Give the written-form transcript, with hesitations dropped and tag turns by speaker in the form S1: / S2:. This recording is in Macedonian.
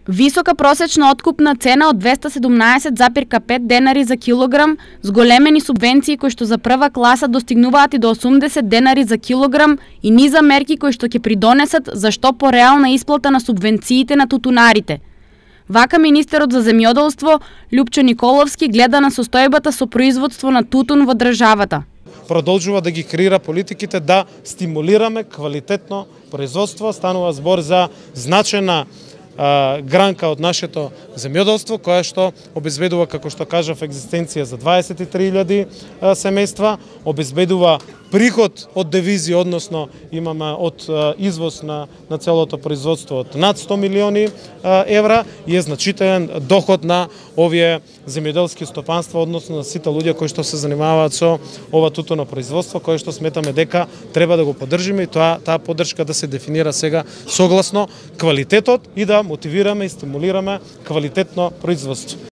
S1: Висока просечна откупна цена од 217,5 денари за килограм, зголемени субвенции кои што за прва класа достигнуваат и до 80 денари за килограм и низа мерки кои што ќе придонесат за што пореална исплата на субвенциите на тутунарите. Вака министерот за земјоделство Љупчо Николовски гледа на состојбата со производство на тутун во државата.
S2: Продолжува да ги креира политиките да стимулираме квалитетно производство. Станува збор за значајна гранка од нашето земјоделство, која што обезбедува, како што кажав, екзистенција за 23.000 семејства, обезбедува приход од девизи, односно имаме од извоз на целото производство од над 100 милиони евра и е значителен доход на овие земјоделски стопанства, односно на сите луѓе кои што се занимаваат со ова тутуно производство, кое што сметаме дека треба да го поддржиме и таа поддршка да се дефинира сега согласно квалитетот и да мотивираме и стимулираме квалитетно производство.